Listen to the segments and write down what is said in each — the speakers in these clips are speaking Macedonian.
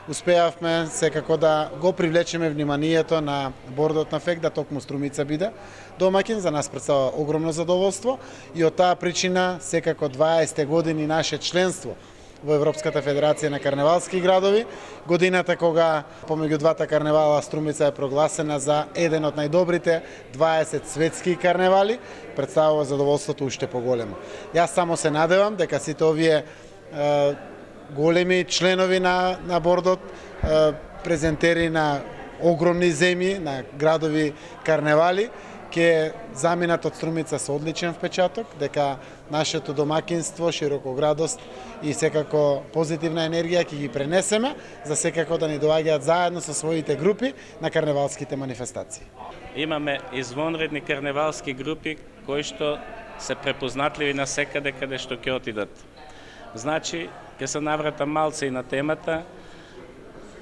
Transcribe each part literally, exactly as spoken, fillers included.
успеавме секако да го привлечеме вниманието на бордот на ФЕК да токму Струмица биде домаќин. За нас представува огромно задоволство и од таа причина секако дваесет години наше членство во Европската федерација на карневалски градови, годината кога помеѓу двата карневала Струмица е прогласена за еден од најдобрите дваесет светски карневали, представува задоволството уште поголемо. Јас само се надевам дека сите овие е, големи членови на, на бордот, е, презентери на огромни земји, на градови карневали, ќе заминат од Струмица со одличен впечаток, дека нашето домакинство, широкоградост и секако позитивна енергија ќе ги пренесеме, за секако да ни доаѓаат заедно со своите групи на карневалските манифестации. Имаме извонредни карневалски групи кои што се препознатливи на секаде каде што ќе отидат. Значи, ќе се навратам малце и на темата.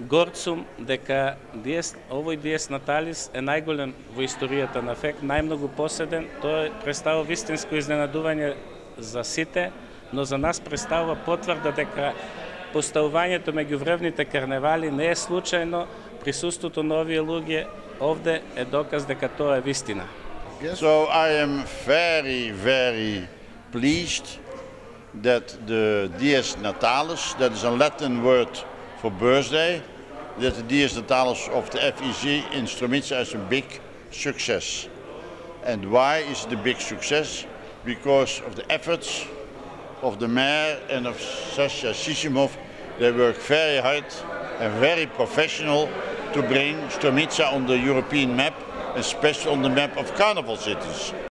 Горд сум дека диес, овој Диес Наталис е најголем во историјата на ФЕК, најмногу поседен. Тој представува вистинско изненадување за сите, но за нас представува потврда дека поставувањето меѓу врвните карневали не е случајно. Присуството на овие луѓе овде е доказ дека тоа е вистина. So I am very, very pleased that the Dies Natalis, that is a Latin word for birthday, that the Dies Natalis of the F E C in Stromica is a big success. And why is it a big success? Because of the efforts of the mayor and of Sasha Sisimov. They work very hard and very professional to bring Stromica on the European map, especially on the map of carnival cities.